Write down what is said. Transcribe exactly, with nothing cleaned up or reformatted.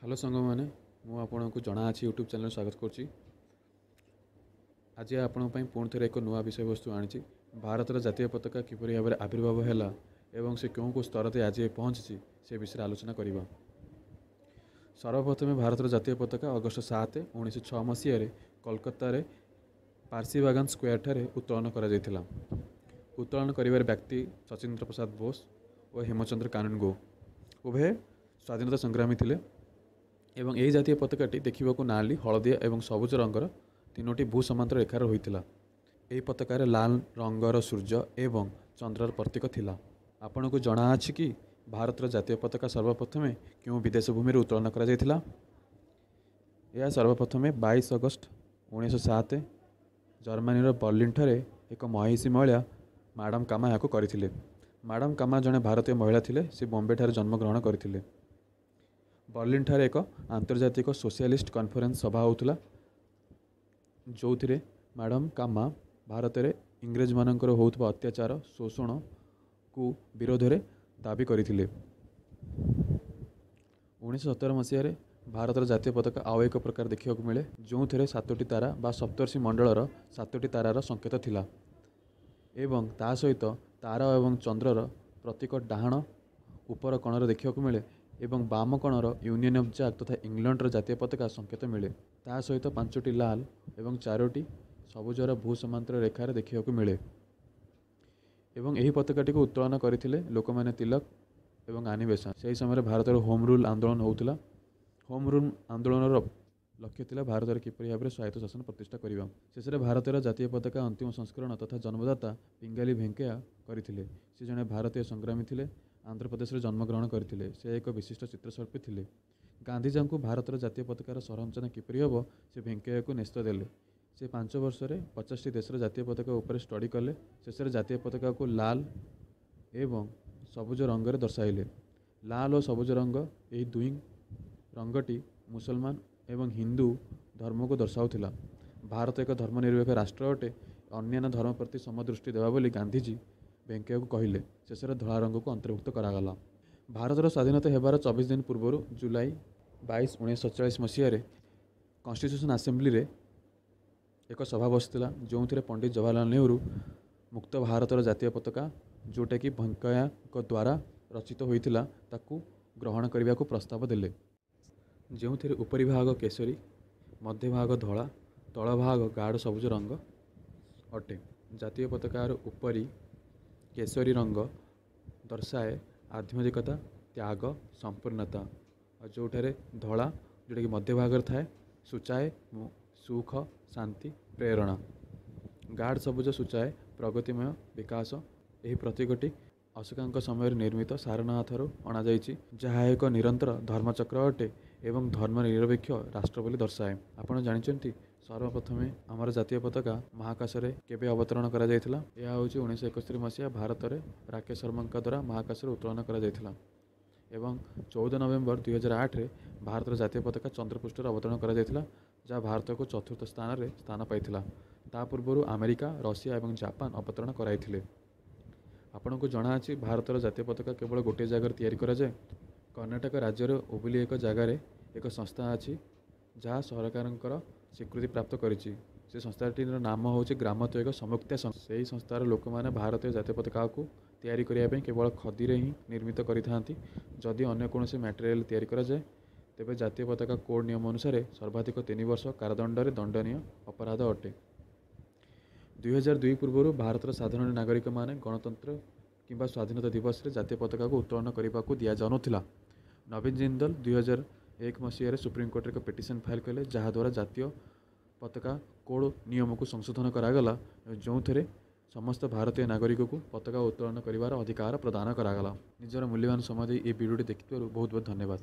Hello ସାଙ୍ଗମାନେ, ମୁଁ ଆପଣଙ୍କୁ ଜଣାଅଛି ୟୁଟ୍ୟୁବ୍ ଚ୍ୟାନେଲ୍ ସ୍ୱାଗତ କରୁଛି। ଆଜି ଆପଣଙ୍କ ପାଇଁ ପୁଣି ଥରେ ଏକ ନୂଆ ବିଷୟବସ୍ତୁ ଆଣିଛି। ଭାରତର ଜାତୀୟ ପତାକା କିପରି ଭାବରେ ଆବିର୍ଭାବ ହେଲା ଏବଂ ସେ କେଉଁ କେଉଁ ସ୍ତରରେ ଆଜି ପହଞ୍ଚିଛି, ସେ ବିଷୟରେ ଆଲୋଚନା କରିବା। ସର୍ବପ୍ରଥମେ ଭାରତର ଜାତୀୟ ପତାକା ଅଗଷ୍ଟ ସାତ ଉଣେଇଶହ ଛଅ ମସିହାରେ କୋଲକାତାରେ ପାର୍ସିବାଗାନ ସ୍କୋୟାରଠାରେ ଉତ୍ତୋଳନ କରାଯାଇଥିଲା। ଉତ୍ତୋଳନ କରିବାର ବ୍ୟକ୍ତି ସଚିନ୍ଦ୍ର ପ୍ରସାଦ ବୋଷ ଓ ହେମଚନ୍ଦ୍ର କାନୁନଗୋ ଉଭୟେ ସ୍ୱାଧୀନତା ସଂଗ୍ରାମୀ ଥିଲେ ଏବଂ ଏହି ଜାତୀୟ ପତାକାଟି ଦେଖିବାକୁ ନାଲି, ହଳଦିଆ ଏବଂ ସବୁଜ ରଙ୍ଗର ତିନୋଟି ଭୂ ସମାନ୍ତର ରେଖାର ହୋଇଥିଲା। ଏହି ପତାକାରେ ଲାଲ ରଙ୍ଗର ସୂର୍ଯ୍ୟ ଏବଂ ଚନ୍ଦ୍ରର ପ୍ରତୀକ ଥିଲା। ଆପଣଙ୍କୁ ଜଣାଅଛି କି ଭାରତର ଜାତୀୟ ପତାକା ସର୍ବପ୍ରଥମେ କେଉଁ ବିଦେଶ ଭୂମିରେ ଉତ୍ତୋଳନ କରାଯାଇଥିଲା? ଏହା ସର୍ବପ୍ରଥମେ ବାଇଶ ଅଗଷ୍ଟ ଉଣେଇଶହ ସାତ ଜର୍ମାନୀର ବର୍ଲିନ୍ଠାରେ ଏକ ମହିଷୀ ମହିଳା ମାଡ଼ାମ୍ କାମା ଏହାକୁ କରିଥିଲେ। ମାଡ଼ାମ୍ କାମା ଜଣେ ଭାରତୀୟ ମହିଳା ଥିଲେ। ସେ ବମ୍ବେଠାରେ ଜନ୍ମଗ୍ରହଣ କରିଥିଲେ। ବର୍ଲିନ୍ଠାରେ ଏକ ଆନ୍ତର୍ଜାତିକ ସୋସିଆଲିଷ୍ଟ କନଫରେନ୍ସ ସଭା ହେଉଥିଲା, ଯେଉଁଥିରେ ମାଡ଼ାମ୍ କାମା ଭାରତରେ ଇଂରେଜମାନଙ୍କର ହେଉଥିବା ଅତ୍ୟାଚାର, ଶୋଷଣକୁ ବିରୋଧରେ ଦାବି କରିଥିଲେ। ଉଣେଇଶହ ସତର ମସିହାରେ ଭାରତର ଜାତୀୟ ପତାକା ଆଉ ଏକ ପ୍ରକାର ଦେଖିବାକୁ ମିଳେ, ଯେଉଁଥିରେ ସାତୋଟି ତାରା ବା ସପ୍ତର୍ଷି ମଣ୍ଡଳର ସାତୋଟି ତାରାର ସଂକେତ ଥିଲା ଏବଂ ତା ସହିତ ତାରା ଏବଂ ଚନ୍ଦ୍ରର ପ୍ରତୀକ ଡାହାଣ ଉପର କୋଣରେ ଦେଖିବାକୁ ମିଳେ ଏବଂ ବାମ କୋଣର ୟୁନିୟନ୍ ଅଫ୍ ଜ୍ୟାକ୍ ତଥା ଇଂଲଣ୍ଡର ଜାତୀୟ ପତାକା ସଂକେତ ମିଳେ। ତା ସହିତ ପାଞ୍ଚଟି ଲାଲ ଏବଂ ଚାରୋଟି ସବୁଜର ଭୂ ସମାନ୍ତର ରେଖାରେ ଦେଖିବାକୁ ମିଳେ ଏବଂ ଏହି ପତାକାଟିକୁ ଉତ୍ତୋଳନ କରିଥିଲେ ଲୋକମାନ୍ୟ ତିଲକ ଏବଂ ଆନି ବେସାନ୍ତ। ସେହି ସମୟରେ ଭାରତର ହୋମ୍ ରୁଲ୍ ଆନ୍ଦୋଳନ ହେଉଥିଲା। ହୋମ୍ ରୁଲ୍ ଆନ୍ଦୋଳନର ଲକ୍ଷ୍ୟ ଥିଲା ଭାରତରେ କିପରି ଭାବରେ ସ୍ୱାୟତ୍ତ ଶାସନ ପ୍ରତିଷ୍ଠା କରିବା। ଶେଷରେ ଭାରତର ଜାତୀୟ ପତାକା ଅନ୍ତିମ ସଂସ୍କରଣ ତଥା ଜନ୍ମଦାତା ପିଙ୍ଗାଲି ଭେଙ୍କୟା କରିଥିଲେ। ସେ ଜଣେ ଭାରତୀୟ ସଂଗ୍ରାମୀ ଥିଲେ। ଆନ୍ଧ୍ରପ୍ରଦେଶରେ ଜନ୍ମଗ୍ରହଣ କରିଥିଲେ। ସେ ଏକ ବିଶିଷ୍ଟ ଚିତ୍ରଶିଳ୍ପୀ ଥିଲେ। ଗାନ୍ଧିଜୀଙ୍କୁ ଭାରତର ଜାତୀୟ ପତାକାର ସଂରଚନା କିପରି ହେବ, ସେ ଭେଙ୍କୟାକୁ ନ୍ୟସ୍ତ ଦେଲେ। ସେ ପାଞ୍ଚ ବର୍ଷରେ ପଚାଶଟି ଦେଶର ଜାତୀୟ ପତାକା ଉପରେ ଷ୍ଟଡି କଲେ। ଶେଷରେ ଜାତୀୟ ପତାକାକୁ ଲାଲ ଏବଂ ସବୁଜ ରଙ୍ଗରେ ଦର୍ଶାଇଲେ। ଲାଲ ଓ ସବୁଜ ରଙ୍ଗ, ଏହି ଦୁଇ ରଙ୍ଗଟି ମୁସଲମାନ ଏବଂ ହିନ୍ଦୁ ଧର୍ମକୁ ଦର୍ଶାଉଥିଲା। ଭାରତ ଏକ ଧର୍ମନିରପେକ୍ଷ ରାଷ୍ଟ୍ର ଅଟେ, ଅନ୍ୟାନ୍ୟ ଧର୍ମ ପ୍ରତି ସମଦୃଷ୍ଟି ଦେବା ବୋଲି ଗାନ୍ଧିଜୀ ଭେଙ୍କୟାକୁ କହିଲେ। ଶେଷରେ ଧଳା ରଙ୍ଗକୁ ଅନ୍ତର୍ଭୁକ୍ତ କରାଗଲା। ଭାରତର ସ୍ୱାଧୀନତା ହେବାର ଚବିଶ ଦିନ ପୂର୍ବରୁ ଜୁଲାଇ ବାଇଶ ଉଣେଇଶହ ସତଚାଳିଶ ମସିହାରେ କନଷ୍ଟିଟ୍ୟୁସନ୍ ଆସେମ୍ବଲିରେ ଏକ ସଭା ବସିଥିଲା, ଯେଉଁଥିରେ ପଣ୍ଡିତ ଜବାହରଲାଲ ନେହେରୁ ମୁକ୍ତ ଭାରତର ଜାତୀୟ ପତାକା, ଯେଉଁଟାକି ଭେଙ୍କୟାଙ୍କ ଦ୍ୱାରା ରଚିତ ହୋଇଥିଲା, ତାକୁ ଗ୍ରହଣ କରିବାକୁ ପ୍ରସ୍ତାବ ଦେଲେ, ଯେଉଁଥିରେ ଉପରି ଭାଗ କେଶରୀ, ମଧ୍ୟଭାଗ ଧଳା, ତଳ ଭାଗ ଗାଢ଼ ସବୁଜ ରଙ୍ଗ ଅଟେ। ଜାତୀୟ ପତାକାର ଉପରି କେଶରୀ ରଙ୍ଗ ଦର୍ଶାଏ ଆଧ୍ୟାତ୍ମିକତା, ତ୍ୟାଗ, ସମ୍ପୂର୍ଣ୍ଣତା, ଆଉ ଯେଉଁଠାରେ ଧଳା, ଯେଉଁଟାକି ମଧ୍ୟଭାଗରେ ଥାଏ, ସୂଚାଏ ସୁଖ, ଶାନ୍ତି, ପ୍ରେରଣା। ଗାଢ଼ ସବୁଜ ସୂଚାଏ ପ୍ରଗତିମୟ ବିକାଶ। ଏହି ପ୍ରତୀକଟି ଅଶୋକାଙ୍କ ସମୟରେ ନିର୍ମିତ ସାରନାଥରୁ ଅଣାଯାଇଛି, ଯାହା ଏକ ନିରନ୍ତର ଧର୍ମଚକ୍ର ଅଟେ ଏବଂ ଧର୍ମ ନିରପେକ୍ଷ ରାଷ୍ଟ୍ର ବୋଲି ଦର୍ଶାଏ। ଆପଣ ଜାଣିଛନ୍ତି ସର୍ବପ୍ରଥମେ ଆମର ଜାତୀୟ ପତାକା ମହାକାଶରେ କେବେ ଅବତରଣ କରାଯାଇଥିଲା? ଏହା ହେଉଛି ଉଣେଇଶହ ଏକସ୍ତରୀ ମସିହା ଭାରତରେ ରାକେଶ ଶର୍ମାଙ୍କ ଦ୍ୱାରା ମହାକାଶରେ ଉତ୍ତୋଳନ କରାଯାଇଥିଲା ଏବଂ ଚଉଦ ନଭେମ୍ବର ଦୁଇହଜାର ଆଠରେ ଭାରତର ଜାତୀୟ ପତାକା ଚନ୍ଦ୍ରପୃଷ୍ଠରେ ଅବତରଣ କରାଯାଇଥିଲା, ଯାହା ଭାରତକୁ ଚତୁର୍ଥ ସ୍ଥାନରେ ସ୍ଥାନ ପାଇଥିଲା। ତା ପୂର୍ବରୁ ଆମେରିକା, ରଷିଆ ଏବଂ ଜାପାନ ଅବତରଣ କରାଇଥିଲେ। ଆପଣଙ୍କୁ ଜଣାଅଛି ଭାରତର ଜାତୀୟ ପତାକା କେବଳ ଗୋଟିଏ ଜାଗାରେ ତିଆରି କରାଯାଏ? କର୍ଣ୍ଣାଟକ ରାଜ୍ୟର ହୁବୁଲି ଏକ ଜାଗାରେ ଏକ ସଂସ୍ଥା ଅଛି, ଯାହା ସରକାରଙ୍କର ସ୍ୱୀକୃତି ପ୍ରାପ୍ତ କରିଛି। ସେ ସଂସ୍ଥାଟିର ନାମ ହେଉଛି ଗ୍ରାମୋଦ୍ୟୋଗ ସମୁକ୍ତା। ସେହି ସଂସ୍ଥାର ଲୋକମାନେ ଭାରତୀୟ ଜାତୀୟ ପତାକାକୁ ତିଆରି କରିବା ପାଇଁ କେବଳ ଖଦିରେ ହିଁ ନିର୍ମିତ କରିଥାନ୍ତି। ଯଦି ଅନ୍ୟ କୌଣସି ମ୍ୟାଟେରିଆଲ୍ ତିଆରି କରାଯାଏ, ତେବେ ଜାତୀୟ ପତାକା କୋଡ଼୍ ନିୟମ ଅନୁସାରେ ସର୍ବାଧିକ ତିନି ବର୍ଷ କାରାଦଣ୍ଡରେ ଦଣ୍ଡନୀୟ ଅପରାଧ ଅଟେ। ଦୁଇହଜାର ଦୁଇ ପୂର୍ବରୁ ଭାରତର ସାଧାରଣ ନାଗରିକମାନେ ଗଣତନ୍ତ୍ର କିମ୍ବା ସ୍ୱାଧୀନତା ଦିବସରେ ଜାତୀୟ ପତାକାକୁ ଉତ୍ତୋଳନ କରିବାକୁ ଦିଆଯାଉନଥିଲା। ନବୀନ ଜିନ୍ଦଲ ଦୁଇହଜାର ଏକ ମସିହାରେ ସୁପ୍ରିମକୋର୍ଟରେ ଏକ ପିଟିସନ୍ ଫାଇଲ୍ କଲେ, ଯାହାଦ୍ୱାରା ଜାତୀୟ ପତାକା କୋଡ଼୍ ନିୟମକୁ ସଂଶୋଧନ କରାଗଲା, ଯେଉଁଥିରେ ସମସ୍ତ ଭାରତୀୟ ନାଗରିକକୁ ପତାକା ଉତ୍ତୋଳନ କରିବାର ଅଧିକାର ପ୍ରଦାନ କରାଗଲା। ନିଜର ମୂଲ୍ୟବାନ ସମୟ ଦେଇ ଏହି ଭିଡ଼ିଓଟି ଦେଖିଥିବାରୁ ବହୁତ ବହୁତ ଧନ୍ୟବାଦ।